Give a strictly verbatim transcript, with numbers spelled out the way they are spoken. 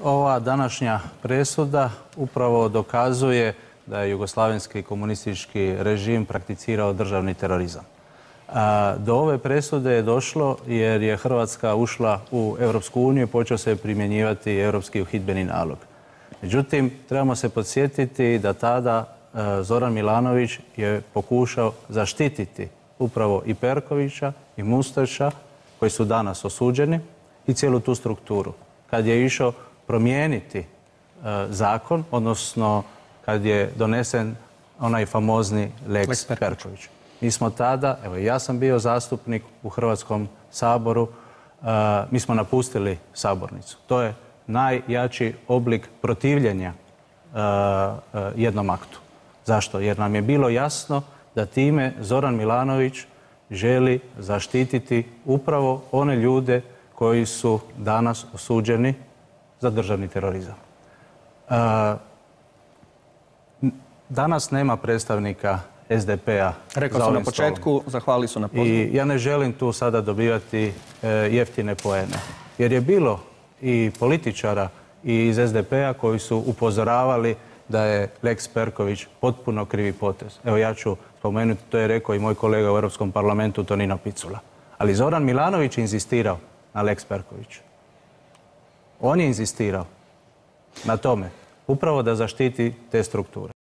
Ova današnja presuda upravo dokazuje da je jugoslavenski komunistički režim prakticirao državni terorizam. Do ove presude je došlo jer je Hrvatska ušla u Europsku uniju i počeo se primjenjivati europski uhidbeni nalog. Međutim, trebamo se podsjetiti da tada Zoran Milanović je pokušao zaštititi upravo i Perkovića i Mustača, koji su danas osuđeni, i cijelu tu strukturu. Kad je išao promijeniti zakon, odnosno kad je donesen onaj famozni Lex Perković. Mi smo tada, evo ja sam bio zastupnik u Hrvatskom saboru, mi smo napustili sabornicu. To je najjači oblik protivljenja jednom aktu. Zašto? Jer nam je bilo jasno da time Zoran Milanović želi zaštititi upravo one ljude koji su danas osuđeni za državni terorizam. Danas nema predstavnika S D P-a. Rekao sam na početku, zahvalili su na pozivu. I ja ne želim tu sada dobivati jeftine poene. Jer je bilo i političara i iz S D P-a koji su upozoravali da je Lex Perković potpuno krivi potez. Evo ja ću spomenuti, to je rekao i moj kolega u Europskom parlamentu Tonino Picula. Ali Zoran Milanović je inzistirao na Lex Perkoviću. On je inzistirao na tome upravo da zaštiti te strukture.